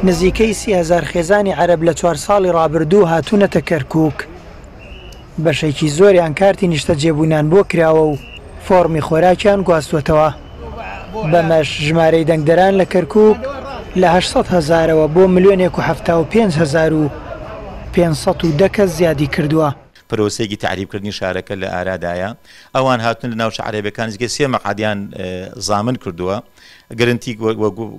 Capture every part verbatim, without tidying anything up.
نزیکەی سی هەزار خێزانی عەرەب لە چوار ساڵی ڕابردوو هاتوونەتە کەرکووک. بەشێکی زۆریان کارتی نیشتەجێبوونیان بۆ کراوە و فۆڕمی خۆراکیان گواستووەتەوە. بەمەش ژمارەی دەنگدەران لە کەرکووک لە هەشت سەد هەزارەوە بۆ ملیۆنێک و حەفتا و پێنج هەزار و پێنج سەد و دە کەس زیادی کردووە. پرۆسەیەکی تەعریبکردنی شارەکە لە ئارادایە. ئەوان هاتون لە ناوچە عەرەبیەکان نزیکەی سێ مەقعەدیان زامن کردووە، گرنتی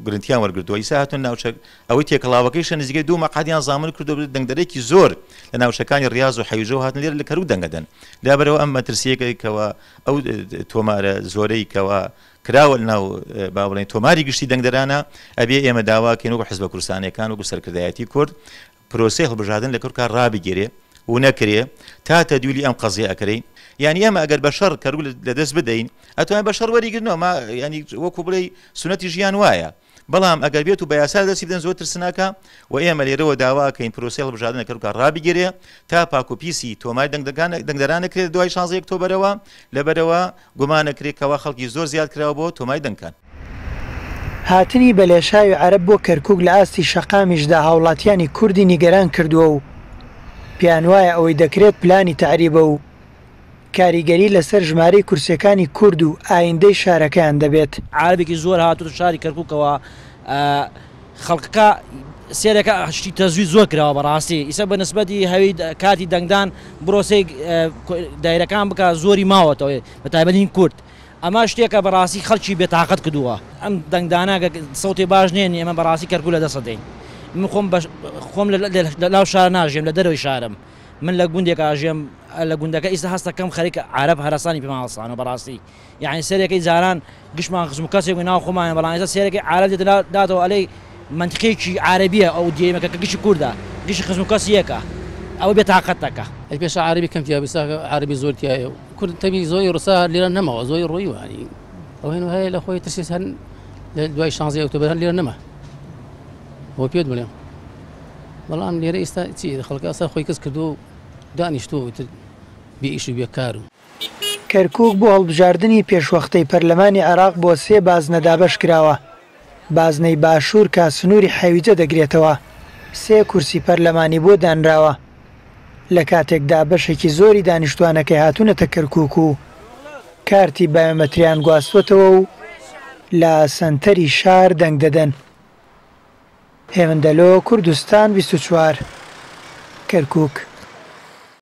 گرنتیان وەرگرتووە. ئیسا هاتون ناوچە ئەوەی تێکەڵاوەکەیشە نزیکەی دوو مەقعەدیان زامن کردووە. دەنگدەرێکی زۆر لە ناوچەکانی ڕیاز و حەویجەوە هاتن لێرە لە کەرکوک دەنگەدەن. لابەرەوە ئەم مەترسیەکەوە ئەو تۆمارە زۆرەی کەوە کراوە لەناو با بڵێین تۆماری گشتی دەنگدەرانە، ئەبێ ئێمە داواکەین وەکو حزبە کوردستانیەکان وەکو سەرکردایەتی کورد پرۆسەی هەڵبژاردن لە کەرکوکا ڕابگیرێ و نەکرێ تا تەدویلی ئەم قەزیە ئەکرێ. یعنی ئێمە ئەگەر بە شەڕ کەرکوک لەدەست بدەین ئەتوانین بە شەڕ وەریگرنەوە، ما یعنی وەکو بڵێ سونەتی ژیان وایە. بەڵام ئەگەر بێت و بە یاسا دەستی بدەن زۆر ترسناکە و ئێمە لێرەوە داواکەین پرۆسەی هەڵبژاردن لە کەرکوکا ڕابگیرێ تا پاک و پیسی تۆماری دەنگدەران نەکرێت دوای شانزە ئۆکتۆبەرەوە. لەبەرەوە گومانەکرێت کەوا خەڵکی زۆر زیاد کراوە بۆ تۆماری دەنگکان. هاتنی بەلێشاوی عەرەب بۆ کەرکوک لە ئاستی شەقامیشدا هاوڵاتیانی کوردی نیگەران کردووە و پێیان وایە ئەوەی دەکرێت پلانی تەعریبە و کاریگەری لەسەر ژمارەی کورسیەکانی کورد و ئایندەی شارەکەیان دەبێت. عەرەبێکی زۆر هاتووە شاری کەرکوکەوە، خەڵکەکە سێرەکە شتی تەزویر زۆر کراوە بەڕاستی. ئیسا بە نسبەتی هەوی کاتی دەنگدان بڕۆسەی دایرەکان بکە زۆری ماوەتەوە بە تایبەتی کورد. ئەمە شتێکە بەڕاستی خەڵکی بێتاقەت کردووە. ئەم دەنگدانە سەوتی باش نێنی ئێمە بەڕاستی کەرکوک لە دەسە دەین. من خۆم خۆم لە لاو شار ناژێم، لە دەرەوەی شارم. من لە گوندێک ئاژێم، لە گوندەکە ئیستا هەستەکەم خەریکە عەرەب هەرەسانی پێمان هەڵسانەوە بەڕاستی. یعنی سەرێکی جاران گشتمان خزم و کەسێک بوو ناو خۆمانە، بەڵام ئێستا سەرێکی عەرەب دێتە داتەوە ئەلەی منطقەیەکی عەرەبیە ئەو دیێمەکە کە گشتی کوردە، گشتی خزم و کەسی یەکە، ئەوە بێتاقەتەکە. ئەی پێشە عەرەبی کەم تیا بوو، ئێستا عەرەبی زۆر تیایە و کورد تەبی زۆری ڕوسا لێرە نەماوە، زۆری ڕۆیوە. یعنی ئەو هێنو هەیە لە خۆی ترسیس هەن لە دوای شانزەی ئۆکتۆبەر هەن لێرە نەما. بۆ پێت بڵێم بەڵام لێرە ئێستا چی خەڵکە ئەسا خۆی کەس کردو و دانیشتووە و بێ ئیش و بێکار و. کەرکوک بۆ هەڵبژاردنی پێشوەختەی پەرلەمانی عێراق بۆ سێ بازنە دابەش کراوە. بازنەی باشوور کە سنووری حەویجە دەگرێتەوە سێ کورسی پەرلەمانی بۆ دانراوە، لە کاتێکدا بەشێکی زۆری دانیشتوانەکەی هاتوونەتە کەرکوک و کارتی بایۆمەتریان گواستوەتەوە و لە سەنتەری شار دەنگ دەدەن. هێمن دەلۆ، کوردستان بیست و چوار، کەرکوک.